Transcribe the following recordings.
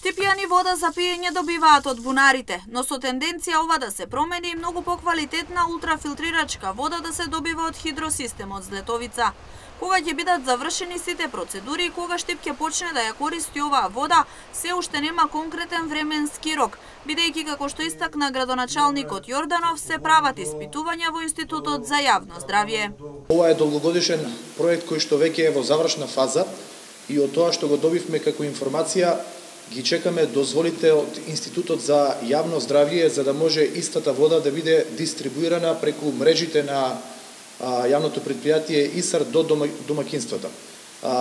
Штипјани вода за пиење добиваат од бунарите, но со тенденција ова да се промени и многу поквалитетна ултрафилтрирачка вода да се добива од хидросистемот Злетовица. Кога ќе бидат завршени сите процедури и кога Штип ќе почне да ја користи оваа вода, се уште нема конкретен временски рок, бидејќи како што истакна градоначалникот Јорданов, се прават испитувања во Институтот за јавно здравје. Ова е долгогодишен проект кој што веќе е во завршна фаза и од тоа што го добивме како информација ги чекаме дозволите од Институтот за јавно здравје за да може истата вода да биде дистрибуирана преку мрежите на јавното предпријатие ИСАР до домакинствата.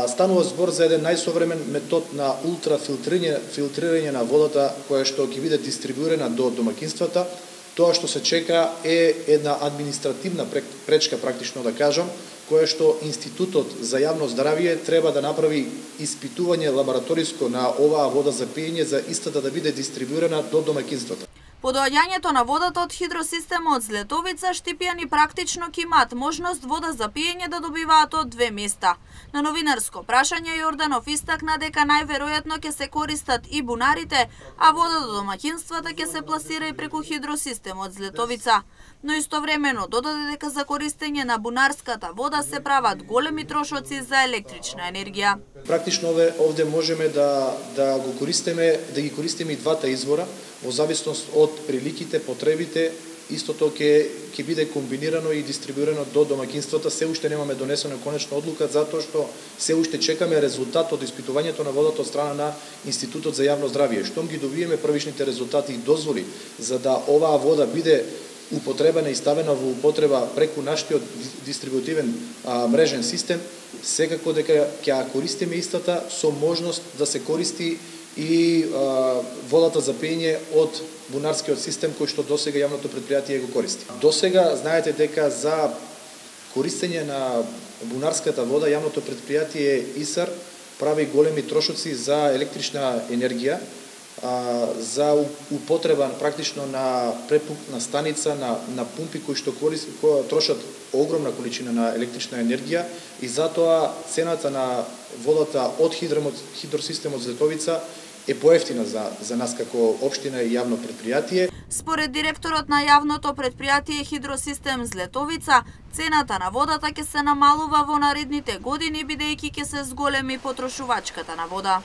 Станува збор за еден најсовремен метод на ултрафилтрирање на водата која што ќе биде дистрибуирана до домакинствата. Тоа што се чека е една административна пречка, практично да кажам, која што Институтот за јавно здравје треба да направи испитување лабораториско на оваа вода за пиење за истата да биде дистрибуирана до домакинствата. По доаѓањето на водата од хидросистемот Злетовица, штипјани практично ќе имаат можност вода за пиење да добиваат од две места. На новинарско прашање Јорданов истакна дека најверојатно ќе се користат и бунарите, а вода до домаќинствата ќе се пласира и преку хидросистемот Злетовица. Но истовремено додаде дека за користење на бунарската вода се прават големи трошоци за електрична енергија. Практично овде можеме да ги користиме и двата извора во зависност од приликите, потребите. Истото ќе биде комбинирано и дистрибуирано до домакинствата. Се уште немаме донесена конечна одлука затоа што се уште чекаме резултат од испитувањето на водата од страна на Институтот за јавно здравје. Штом ги добиеме првичните резултати и дозволи за да оваа вода биде употребена и ставена во употреба преку нашиот дистрибутивен мрежен систем, секако дека ќе ја користиме истата со можност да се користи и водата за пиење од бунарскиот систем кој што досега јавното предпријатие го користи. Досега знаете дека за користење на бунарската вода јавното предпријатие ИСАР прави големи трошоци за електрична енергија, за употреба практично на препукна станица, на пумпи кои што трошат огромна количина на електрична енергија и затоа цената на водата од хидросистемот Злетовица е поевтина за нас како општина и јавно предпријатие. Според директорот на јавното предпријатие Хидросистем Злетовица, цената на водата ќе се намалува во наредните години бидејќи ќе се зголеми потрошувачката на вода.